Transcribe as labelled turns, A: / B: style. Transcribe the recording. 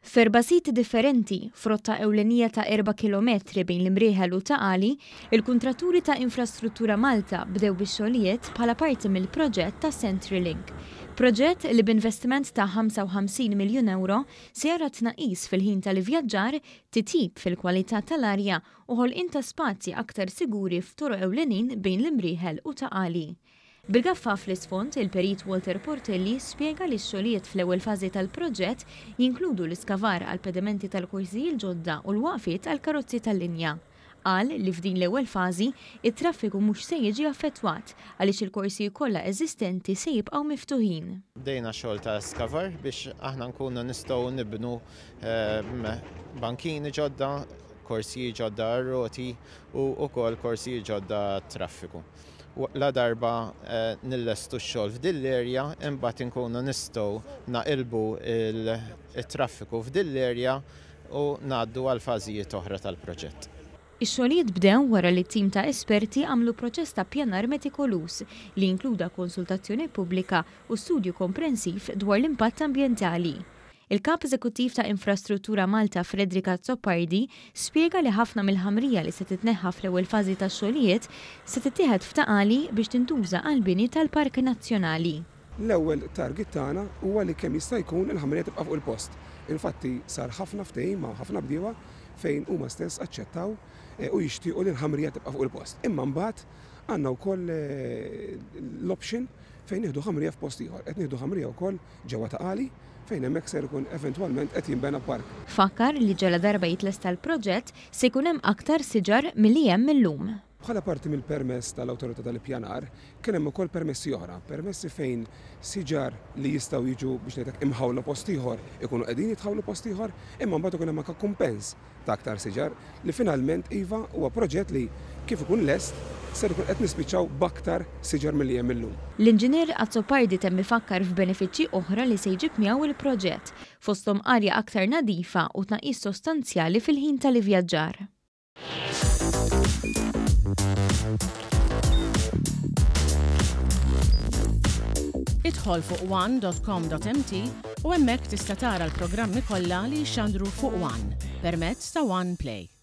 A: F'erba' siti differenti, f'rotta ewlenija ta' erba' kilometri bejn l-Imrieħel u Ta' Qali, il-kuntratturi ta' Infrastruttura Malta bdew bix-xogħlijiet bħala parti mill-proġett ta' Centrelink. Proġett li b'investiment ta' 55 miljun ewro se jara tnaqqis fil-ħin tal-ivvjaġġar, titjib fil-kwalità tal-arja u ħolqien ta' spazji aktar siguri f'toroq ewlenin bejn l-Imrieħel u Ta' Qali. Bil-gaffa fl-isfond, il-Perit Walter Portelli spjega li x-xogħlijiet fl-ewwel fażi tal-proġett jinkludu l-iskavar għall-pedamenti tal-korsiji l-ġodda u l-waqfiet għall-karozzi tal-linja. Qal li f'din l-ewwel fażi, it-traffiku mhux se jiġi affettwat għaliex il-korsiji kollha eżistenti se jibqgħu miftuħin.
B: Bdejna xogħol ta' skavar biex aħna nkunu nistgħu nibnu bankini ġodda, korsiji ġodda għar-roti u wkoll korsiji ġodda għat-traffiku. Ladarba nillestu x-xogħol f'din l-area, imbagħad inkunu nistgħu naqilbu t-traffiku f'din l-area u ngħaddu għal fażijiet oħra tal-proġett.
A: Ix-xogħlijiet bdew wara li tim ta' esperti għamlu proċess ta' ppjanar metikoluż li inkluda konsultazzjoni pubblika u studju komprensiv dwar l-impatt ambjentali. Il-Kap Eżekuttiv ta' Infrastruttura Malta Frederick Azzopardi spjega li ħafna mill-ħamrija li se titneħħa fl-ewwel fażi tax-xogħlijiet se tittieħed f'Ta' Qali biex tintuża għall-bini tal-Park Nazzjonali.
C: L-ewwel target tagħna huwa li kemm jista' jkun il-ħamrija tibqa' fuq il-post. Infatti sar ħafna ftehim ma' ħafna bdiewa fejn huma stess aċċettaw u jixtiequ li l-ħamrija tibqa' fuq il-post. Imma mbagħad għandna wkoll l-option fejn nieħdu ħamrija f'post ieħor. Qed nieħdu ħamrija wkoll ġewwa Ta' Qali fejn hemmhekk ser ikun eventwalment qed jinbena park.
A: Fakkar li ġaladarba jitlesta l-proġett se jkun hemm aktar siġar milli hemm illum.
C: Bħala parti mill-permess tal-Awtorità tal-Ippjanar kien hemm ukoll permessi oħra, permessi fejn siġar li jistgħu jiġu biex ngħid hekk imħawla post ieħor ikunu qegħdin jitħawlu post ieħor, imma mbagħad ikun hemm anke kumpens ta' aktar siġar li finalment iva huwa proġett li kif ikun lest ser ikun qed nispiċċaw b'aktar siġar milli hemm illum.
A: L-Inġinier Azzopardi temm ifakkar f'benefiċċji oħra li se jġib miegħu l-proġett, fosthom arja aktar nadifa u tnaqqis sostanzjali fil-ħin tal-ivvjaġġar.
D: Idħol fuq one.com.mt u hemmhekk tista' tara l-programmi kollha li jixxandru fuq One permezz ta' One Play.